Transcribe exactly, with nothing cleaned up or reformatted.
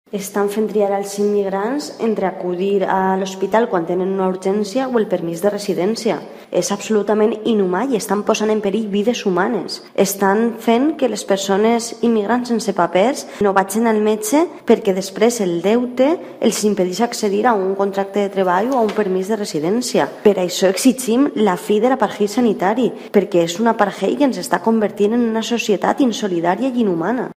Estan fent triar als immigrants entre acudir a l'hospital quan tenen una urgència o el permís de residència. És absolutament inhumà i estan posant en perill vides humanes. Estan fent que les persones immigrants sense papers no vagin al metge perquè després el deute els impedeix accedir a un contracte de treball o a un permís de residència. Per això exigim la fi de l'apartheid sanitari, perquè és un apartheid que ens està convertint en una societat insolidària i inhumana.